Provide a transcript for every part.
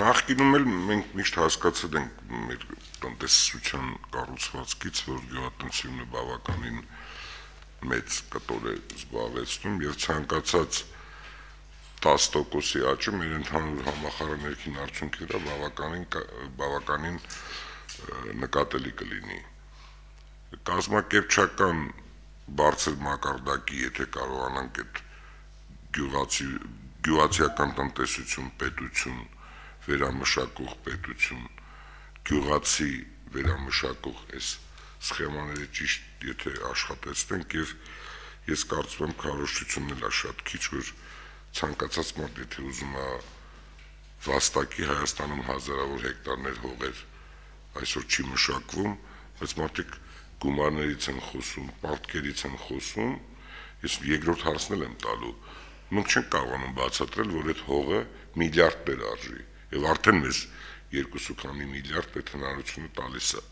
Նախկինում էլ մենք միշտ հասկացել ենք մեր տնտեսության կառուցվածքից, որ գյուղատնտեսությունը բավականին մեծ կտոր է զբաղեցնում եւ ցանկացած 10%-ի աճը մեր ընդհանուր համախառն ներքին արդյունքի վրա բավականին նկատելի կլինի։ Կազմակերպչական բարձր մակարդակի, եթե կարողանանք այդ գյուղացիական տնտեսություն, պետություն, վերամշակող պետություն, գյուղացի վերամշակող այս սխեմաները ճիշտ եթե աշխատեցնենք եւ ես կարծում եմ քարոզչությունն էլ է շատ քիչ, որ ցանկացած մարդ եթե ուզում է վաստակի Հայաստանում հազարավոր հեկտարներ հողեր այսօր չի մշակվում, բայց մարդիկ գումարներից են խոսում, պարտքերից են խոսում, ես երկրորդ հարցն եմ տալու, մենք չենք կարողանում բացատրել, որ այդ հողը միլիարդներ արժի, եւ արդեն մեզ 2 միլիարդ այդ հնարավորությունը տալիս է։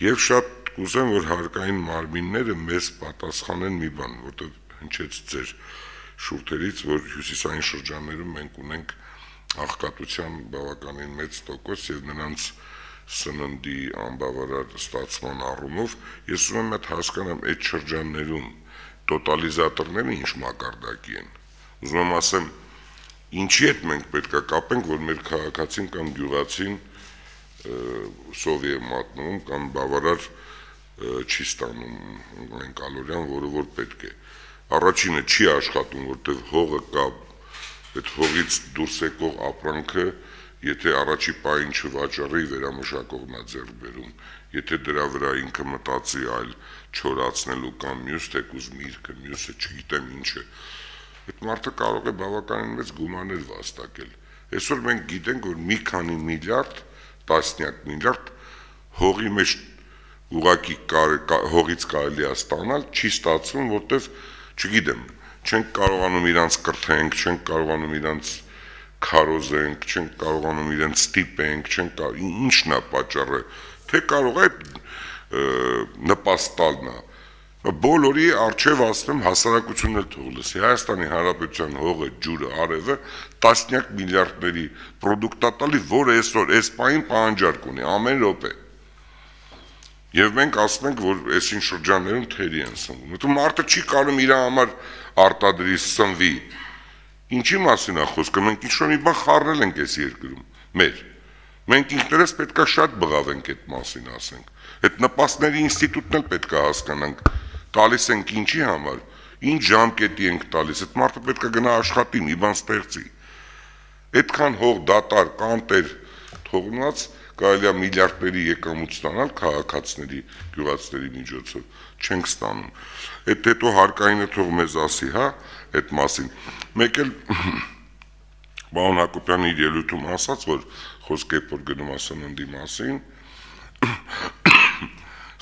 Եվ շատ կուզեմ, որ հարկային մարմինները մեզ պատասխանեն մի բան, որտեղ հնչեց ձեր շուրթերից, որ հյուսիսային շրջաններում մենք ունենք աղքատության բավականին մեծ տոկոս եւ նրանց սննդի անբավարար ստացման առումով ես ուզում եմ հասկանամ այդ շրջաններում տոտալիզատորները ինչ մակարդակի են։ Ուզում եմ ասեմ, ինչի հետ մենք պետք է կապենք, որ մեր քաղաքացին կամ գյուղացին սովի է մատնում կամ բավարար չի ստանում այն կալորիան, որը որ պետք է։ Առաջինը չի աշխատում, որտեղ հողը կա, այդ հողից դուրս եկող ապրանքը, եթե առաջի պահին չվաճառի, վերամշակողն է ձեռք բերում, եթե դրա վրա ինքը մտածի այլ չորացնելու կամ մյուս թեկուզ միրգը, մյուսը չգիտեմ ինչը, այդ մարդը կարող է բավականին մեծ գումարներ վաստակել։ Այսօր մենք գիտենք, որ մի քանի միլիարդ, տասնյակ միլիարդ հողի մեջ ուղղակի հողից կարելի է ստանալ, չի ստացվում, որտեվ չգիտեմ, չենք կարողանում իրանց կրթենք, չենք կարողանում իրանց քարոզենք, չենք կարողանում իրենց ստիպենք, ինչն է պատճառը, թե կարող է նպաստ տալն է։ Բոլորի առջև ասում եմ հասարակությունն էլ թող լսի, Հայաստանի Հանրապետության հողը, ջուրը, արևը տասնյակ միլիարդների պրոդուկտ է տալի, որը այսօր այս պահին պահանջարկ ունի, ամեն րոպե։ Եվ մենք ասում ենք, որ այսին շրջաններում թերի են սնվում։ Որտեղ մարդը չի կարող իր համար արտադրի սնվի։ Ինչի մասին է խոսքը, մենք ինչ-որ մի բան խառնել ենք այս երկրում, մեր։ Մենք ինքներս պետք է շատ բղավենք այդ մասին, ասենք։ Այդ նպաստների ինստիտուտն էլ պետք է հասկանանք, տալիս ենք ինչի համար, ինչ ժամկետի ենք տալիս, այդ մարդը պետք է գնա աշխատի, մի բան ստեղծի։ Այդքան հող դատար, կանտեր թողնած կարելի է միլիարդների եկամուտ ստանալ քաղաքացիների, գյուղացիների միջոցով, չենք ստանում։ Այդ հետո հարկայինը թող մեզ ասի, հա, այդ մասին։ Մեկ էլ պարոն Հակոբյանը իր ելույթում ասաց, որ խոսք է որ գնում է սննդի մասին,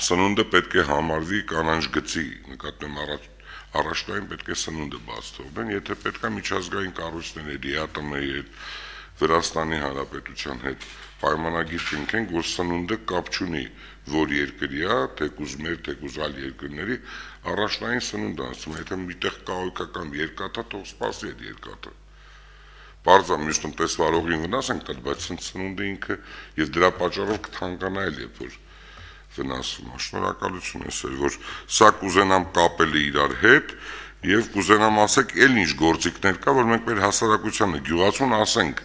սնունդը պետք է համարվի կանանչ գծի, նկատեմ առաջնային պետք է սնունդը բաց թողնեն, եթե պետք է միջազգային կառույցների, ԵԱՏՄ-ի հետ, Վրաստանի Հանրապետության հետ պայմանագիր կնքենք, որ սնունդը կապ չունի, որ երկրի է, թեկուզ մեր, թեկուզ այլ երկրների, առաջնային սնունդ ասում, եթե միտեղ կահույքական երկաթա, թող սպասի այդ երկաթը։ Պարզ է մյուս տնտեսվարողին վնաս ենք տալ, բայց սնունդը ինքը եւ դրա պատճառով կթանկանա էլ երբ որ վնասվում է։ Շնորհակալություն այսօր, որ սա կուզենամ կապել իրար հետ եւ կուզենամ ասեք էլ ինչ գործիքներ կա, որ մենք մեր հասարակությանը գյուղացուն ասենք,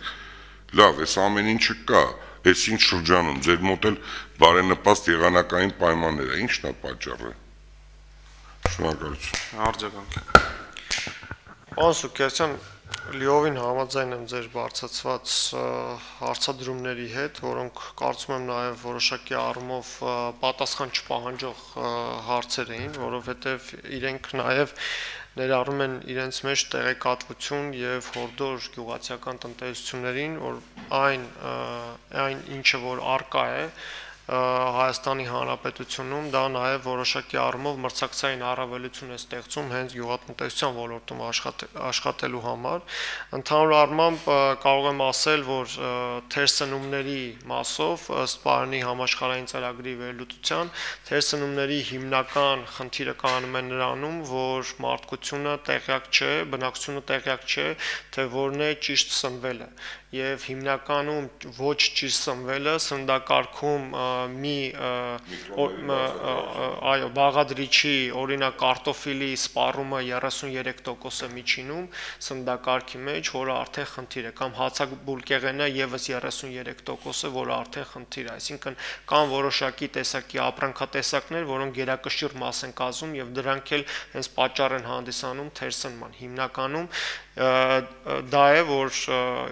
լավ, այս ամեն ինչը կա, այս ինչ շրջանում, ձեր մոտ էլ բարենպաստ եղանակային պայմաններ է, ինչն է պատճառը։ Շնորհակալություն։ Արձագանք։ Պարոն Սուքերցյան, լիովին համաձայն եմ ձեր բարձրացված հարցադրումների հետ, որոնք կարծում եմ նաև որոշակի առումով պատասխան չպահանջող հարցեր էին, որովհետև իրենք նաև ներառում են իրենց մեջ տեղեկատվություն եւ հորդոր գյուղացիական տնտեսություններին, որ այն ինչը որ արկա է, Հայաստանի Հանրապետությունում դա նաև որոշակի առումով մրցակցային առավելություն է ստեղծում հենց գյուղատնտեսության ոլորտում աշխատելու համար։ Ընդհանուր առմամբ կարող եմ ասել, որ թերսնումների մասով ըստ Պարանի համաշխարհային ծրագրի վերլուծության թերսնումների հիմնական խնդիրը կանում է նրանում, որ մարդկությունը տեղյակ չէ, բնակչությունը տեղյակ չէ, թե որն է ճիշտ սնվելը եւ հիմնականում ոչ ճիշտ սնվելը սննդակարգում մի բաղադրիչի, օրինակ կարտոֆիլի սպառումը 33% է միջինում սննդակարգի մեջ, որը արդեն խնդիր է, կամ հացաբուլկեղենը եւս 33%, որը արդեն խնդիր է, այսինքն կան որոշակի տեսակի ապրանքատեսակներ, որոնք գերակշիռ մաս են կազմում եւ դրանք էլ հենց պատճառ են հանդիսանում թերսնման։ Հիմնականում դա է, որ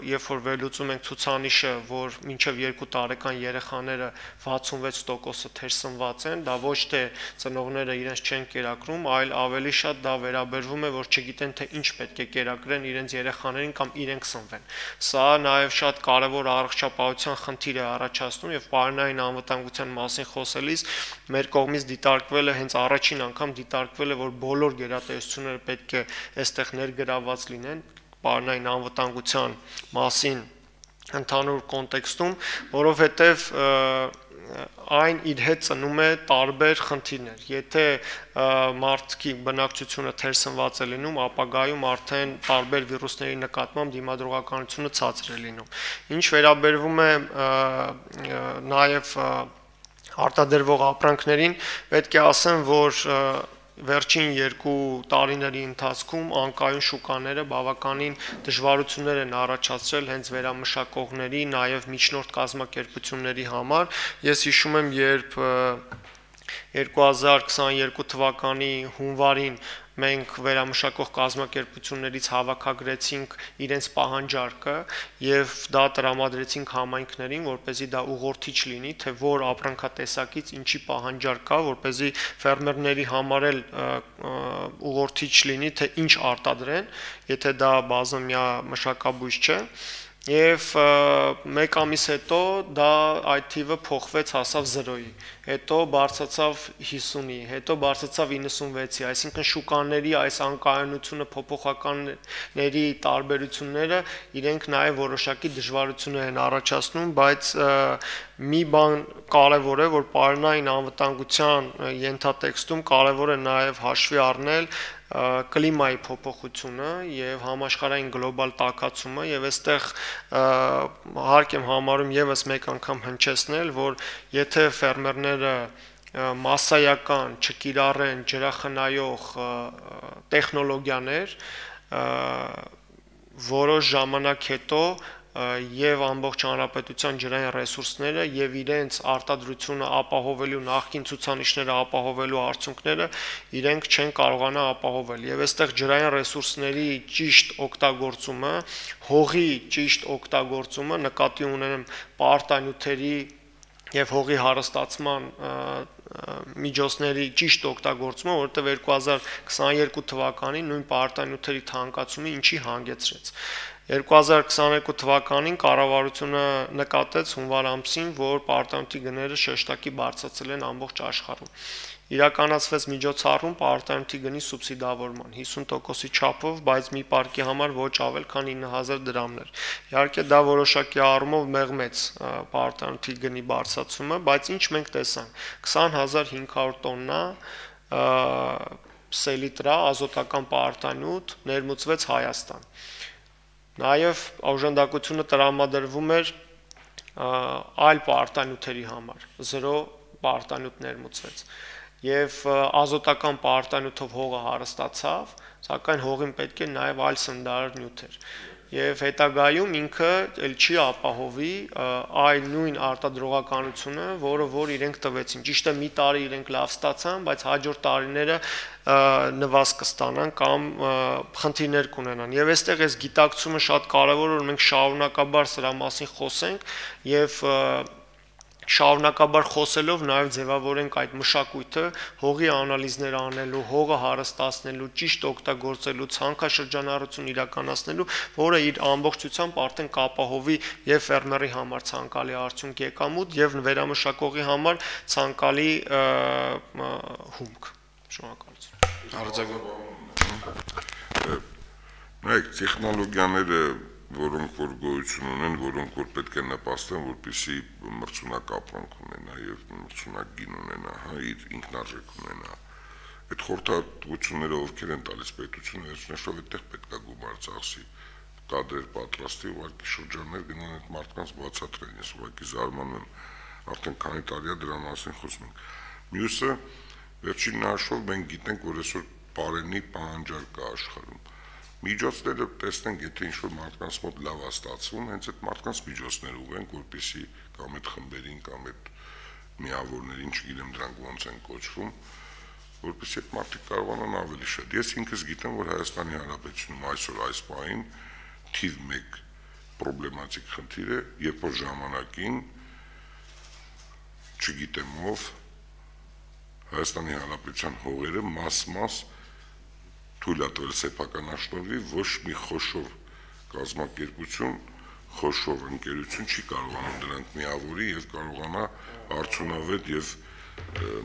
երբ որ վերլուծում ենք ցուցանիշը, որ մինչև 2 տարեկան երեխաները 66% թերսնված են, դա ոչ թե ծնողները իրենց չեն կերակրում, այլ ավելի շատ դա վերաբերվում է, որ չգիտեն թե ինչ պետք է կերակրեն իրենց երեխաներին կամ իրենք սնվեն։ Սա նաև շատ կարևոր առողջապահության խնդիր է առաջացնում եւ պարենային անվտանգության մասին խոսելիս մեր կողմից դիտարկվել է հենց առաջին անգամ դիտարկվել է, որ բոլոր գերատեսչությունները պետք է այստեղ ներգրավված լինեն պարենային անվտանգության մասին ընդհանուր կոնտեքստում, որովհետև այն իր հետ ծնում է տարբեր խնդիրներ։ Եթե մարդկի բնակչությունը թերսնված է լինում, ապագայում արդեն տարբեր վիրուսների նկատմամբ դիմադրողականությունը ցածր է լինում։ Ինչ վերաբերվում է նաև արտադրվող ապրանքներին, պետք է ասեմ, որ վերջին 2 տարիների ընթացքում անկայուն շուկաները բավականին դժվարություններ են առաջացրել հենց վերամշակողների, նաև միջնորդ կազմակերպությունների համար։ Ես հիշում եմ, երբ 2022 թվականի հունվարին մենք վերամշակող կազմակերպություններից հավաքագրեցինք իրենց պահանջարկը եւ դա տրամադրեցինք համայնքներին, որպեսզի դա ուղղորդիչ լինի, թե որ ապրանքատեսակից ինչի պահանջարկ կա, որպեսզի ֆերմերների համար էլ ուղղորդիչ լինի, թե ինչ արտադրեն, եթե դա բազմամյա մշակաբույս չէ։ Եվ մեկ ամիս հետո դա այդ թիվը փոխվեց, հասավ 0-ի, հետո բարձրացավ 50-ի, հետո բարձրացավ 96-ի, այսինքն շուկաների այս անկայունությունը, փոփոխականների տարբերությունները իրենք նաև որոշակի դժվարություններ են առաջացնում, բայց մի բան կարևոր է, որ պարենային անվտանգության ենթատեքստում կարևոր է նաև հաշվի առնել կլիմայի փոփոխությունը եւ համաշխարհային գլոբալ տաքացումը եւ այստեղ հարկ եմ համարում եւս մեկ անգամ հնչեցնել, որ եթե ֆերմերները մասսայական չկիրառեն ջրախնայող տեխնոլոգիաներ, որոշ ժամանակ հետո եւ ամբողջ հանրապետության ջրային ռեսուրսները եւ իրենց արտադրությունը ապահովելու նախկին ցուցանիշները ապահովելու արդյունքները իրենք չեն կարողանա ապահովել եւ այստեղ ջրային ռեսուրսների ճիշտ օգտագործումը, հողի ճիշտ օգտագործումը, նկատի ունեմ պարտանյութերի եւ հողի հարստացման միջոցների ճիշտ օգտագործումը, որտեղ 2022 թվականին նույն պարտանյութերի թանկացումը ինչի հանգեցրեց։ 2022 թվականին կառավարությունը նկատեց հունվար ամսին, որ պարտանյութի գները շեշտակի բարձրացել են ամբողջ աշխարհում։ Իրականացվեց միջոցառում պարտանյութի գնի սուբսիդավորման 50%-ի չափով, բայց մի պարկի համար ոչ ավել, քան 9000 դրամներ։ Իհարկե դա որոշակի առումով մեղմեց պարտանյութի գնի բարձրացումը, բայց ինչ մենք տեսանք, 20500 տոննա սելիտրա ազոտական պարտանյութ ներմուծվեց Հայաստան։ Նաև օժանդակությունը տրամադրվում էր այլ պարտանյութերի համար, 0 պարտանյութ ներմուծվեց։ Եվ ազոտական պարտանյութով հողը հարստացավ, սակայն հողին պետք է նաև այլ սննդարար նյութեր։ Եվ հետագայում ինքը էլ չի ապահովի այլ նույն արտադրողականությունը, որ իրենք տվեցին։ Ճիշտ է, մի տարի իրենք լավ ստացան, բայց հաջորդ տարիները նվազ կստանան կամ խնդիրներ կունենան։ Եվ այստեղ այս գիտակցումը շատ կարևոր է, որ մենք շարունակաբար սրա մասին խոսենք եւ շարունակաբար խոսելով նաև ձևավորենք այդ մշակույթը հողի անալիզներ անելու, հողը հարստացնելու, ճիշտ օգտագործելու, ցանքաշրջանառություն իրականացնելու, որը իր ամբողջությամբ արդեն կապահովի եւ ֆերմերի համար ցանկալի արդյունք եկամուտ եւ վերամշակողի համար ցանկալի հումք։ Շնորհակալություն։ Արձագանք։ Նայեք, տեխնոլոգիաները, որոնք որ գոյություն ունեն, որոնք որ պետք է նպաստեն, որպեսզի մրցունակ ապրանք ունենա եւ մրցունակ գին ունենա, հա, իր ինքնարժեք ունենա։ Այդ խորհրդատվությունները ովքեր են տալիս պետությունը, այսինքն այդտեղ պետք է գումար ծախսի, կադրեր պատրաստի, ուղղակի շրջաններ գնան այդ մարդկանց բացատրեն, ես ուղղակի զարմանում եմ, արդեն քանի տարի է դրա մասին խոսում ենք։ Մյուսը, վերջին հաշվով մենք գիտենք, որ այսօր բարենի պահանջարկ կա աշխարհում։ Միջոցները տեսնենք, եթե ինչ-որ մարդկանց մոտ լավ է ստացվում, հենց այդ մարդկանց միջոցները ուղենք, որպեսզի կամ այդ խմբերին, կամ այդ միավորներին, չգիտեմ դրանք ոնց են կոչվում, որպեսզի այդ մարդիկ կարողանան ավելի շատ։ Ես ինքս գիտեմ, որ Հայաստանի Հանրապետությունում այսօր այս պահին թիվ 1 պրոբլեմատիկ խնդիր է, երբ որ ժամանակին չգիտեմ ով Հայաստանի Հանրապետության հողերը մաս-մաս թույլատրել սեփականաշնորհի, ոչ մի խոշոր կազմակերպություն, խոշոր ընկերություն չի կարողանում դրանք միավորի եւ կարողանա արդյունավետ եւ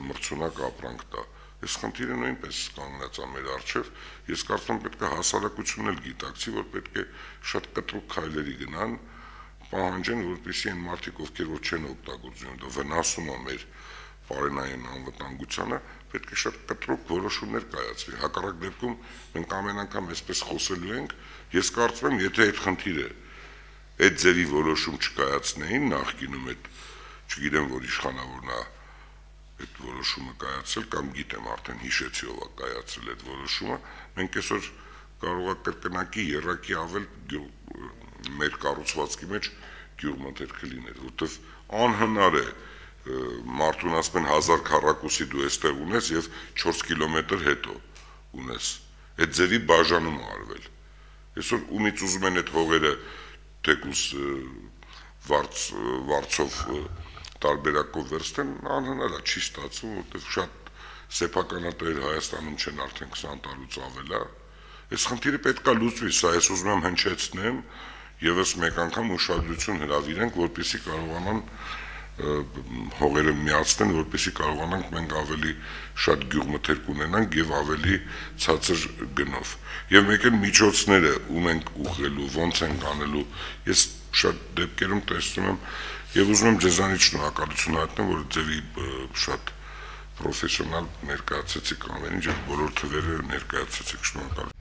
մրցունակ ապրանք տա։ Այս խնդիրը նույնպես կանգնած է մեր առջև։ Ես կարծում եմ պետք է հասարակությունն էլ գիտակցի, որ պետք է շատ կտրուկ քայլերի գնան, պահանջեն, որպեսզի այն մարդիկ, ովքեր որ չեն օգտագործում, դա վնասում է մեր բարենային անվտանգությանը, պետք է շատ կտրուկ որոշումներ կայացվի։ Հակառակ դեպքում մենք ամեն անգամ այսպես խոսելու ենք, ես կարծում եմ, եթե այդ խնդիրը այդ ձևի որոշում չկայացնեին նախկինում այդ, չգիտեմ, որ իշխանավորն է այդ որոշումը կայացրել կամ գիտեմ արդեն հիշեցի ով է կայացրել այդ որոշումը, մենք այսօր կարող է կրկնակի երակի ավել մեր կառուցվածքի մեջ գյուղմթերքը լինել, որտեվ անհնար է մարդուն ասում են 1000 քառակուսի դու այստեղ ունես եւ 4 կիլոմետր հետո ունես։ Այդ ձևի բաժանում արվել։ Այսօր ումից ուզում են այդ հողերը թեկուս վարձով տարբերակով վերցնեն, անհնար է, չի ստացվում, որտեղ շատ սեփականատեր Հայաստանում չեն արդեն 20 տարուց ավել է։ Այս խնդիրը պետք է լուծվի, սա ես ուզում եմ հնչեցնեմ, եւս մեկ անգամ ուշադրություն հրավիրենք, որպեսզի կարողանան հողերը միացնեն, որպեսզի կարողանանք մենք ավելի շատ գյուղմթերք ունենանք եւ ավելի ցածր գնով։ Եվ մեկ էլ միջոցները ում ենք ուղղելու, ոնց են անելու, ես շատ դեպքերում տեսնում եմ եւ ուզում եմ ձեզանից շնորհակալություն հայտնել, որ ձեւի շատ պրոֆեսիոնալ ներկայացեցիք ամեն ինչ, բոլոր թվերը ներկայացեցիք, շնորհակալ